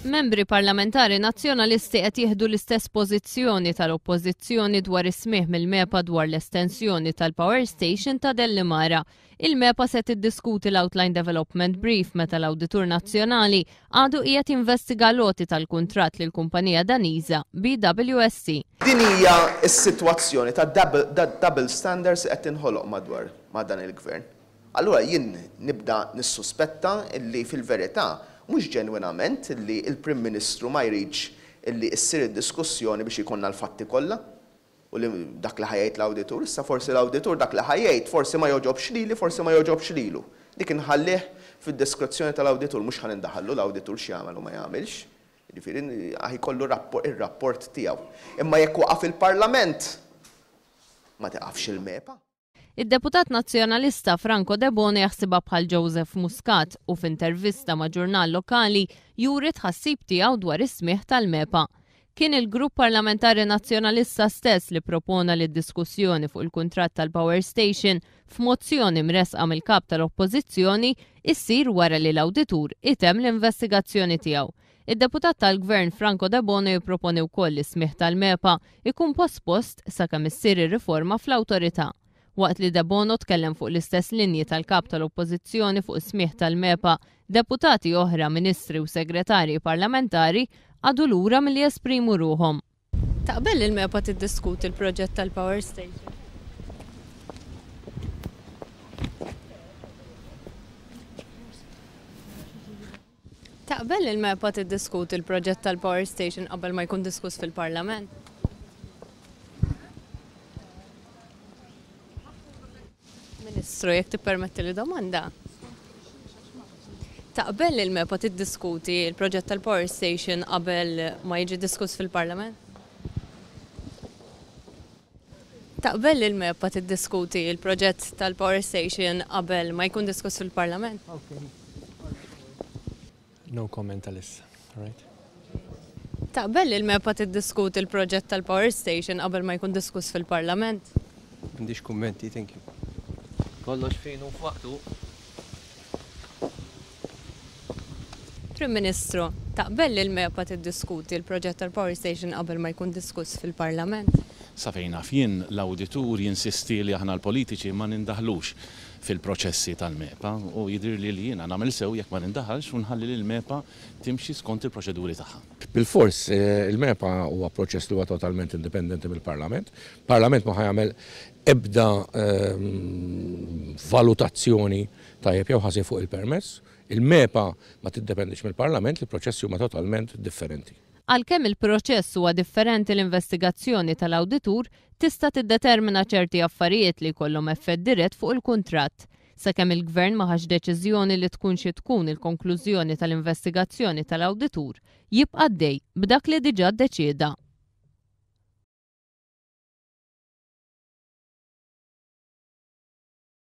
Membri parlamentari Nazzjonalisti qed jieħdu l-istess pożizzjoni tal-Oppożizzjoni dwar is-smigħ mill-MEPA dwar l-estensjoni tal-power station ta' Dellimara. Il-MEPA se tiddiskuti l-Outline Development Brief meta l-Awditur Nazzjonali għadu qiegħed jinvestiga l-għoti tal-kuntratt lill-kumpanija Daniża BWSC. Din hija s-sitwazzjoni ta' double standards li qed tinħoloq madwar ma' dan il-Gvern. Allura jien nibda nissuspetta li fil-verità mhux ġenwinament li l-Prim Ministru ma jridx li ssir id-diskussjoni biex ikollna l-fatti kollha u li dak li ħa jgħid l-awditur. Issa forsi l-awditur dak li ħa jgħid forsi ma jogħġobx lili, forsi ma jogħġobx lilu. Dik inħallih fid-diskrezzjoni tal-awditur, mhux ħa nindaħallu l-awditur x'jagħmel u ma jagħmilx. Jiġifieri ħa jkollu r-rapport tiegħu. Imma jekk waqaf il-Parlament, ma tiqafx il-MEPA. Id-deputat Nazzjonalista Franco Debono jaħsibha bħal Joseph Muscat u f'intervista ma' ġurnal lokali juri t-tħassib tiegħu dwar is-smigħ tal-MEPA. Kien il-Grupp Parlamentari Nazzjonalista stess li propona li d-diskussjoni fuq il-kuntratt tal-power station f'mozzjoni mressqa mill-Kap tal-Oppożizzjoni issir wara li l-Awditur itemm l-investigazzjoni tiegħu. Id-deputat tal-Gvern Franco Debono jipproponi wkoll li s-smigħ tal-MEPA jkun pospost sakemm issir ir-riforma fl-awtorità. Waqt li Debono tkellem fuq l-istess linji tal-Kap tal-Oppożizzjoni fuq is-smigħ tal-MEPA, deputati oħra, ministri u segretarji parlamentari qagħdu lura milli jesprimu ruħhom. Taqbel li l-MEPA tiddiskuti l-proġett tal-power station? Taqbel li l-MEPA tiddiskuti l-proġett tal-power station qabel ma jkun diskuss fil-Parlament? Ministru, jekk tippermetti li domanda. Taqbel li l-MEPA tiddiskuti l-proġett tal-power station qabel ma jiġi diskuss fil-Parlament? Taqbel li l-MEPA tiddiskuti l-proġett tal-power station qabel ma jkun diskuss fil-Parlament? No comment għalissa, all right? Taqbel li l-MEPA tiddiskuti l-proġett tal-power station qabel ma jkun diskuss fil-Parlament? M'għandix kummenti, thank you. Kollox fejn hu f'waqtu. Prim Ministru, taqbel li l-MEPA tiddiskuti l-proġett tal-power station qabel ma jkun diskuss fil-Parlament? Sa fejn naf jien, l-awditur jinsisti li aħna l-politiċi ma nindaħlux fil-proċessi tal-MEPA u jidhirli li jiena nagħmel sew jekk ma nindaħalx u nħalli lill-MEPA timxi skont il-proċeduri tagħha. Bilfors, il-MEPA huwa proċess li huwa totalment indipendenti mill-Parlament. Parlament ma ħa jagħmel ebda valutazzjoni tajjeb jew ħażin fuq il-permess. Il-MEPA ma tiddependix mill-Parlament, il-proċessi huma totalment differenti. Għalkemm il-proċess huwa differenti l-investigazzjoni tal-awditur tista' tiddetermina ċerti affarijiet li jkollhom effett dirett fuq il-kuntratt. Sakemm il-Gvern ma ħax deċiżjoni li tkun xi tkun il-konklużjoni tal-investigazzjoni tal-awditur, jibqa' għaddej b'dak li diġà ddeċieda.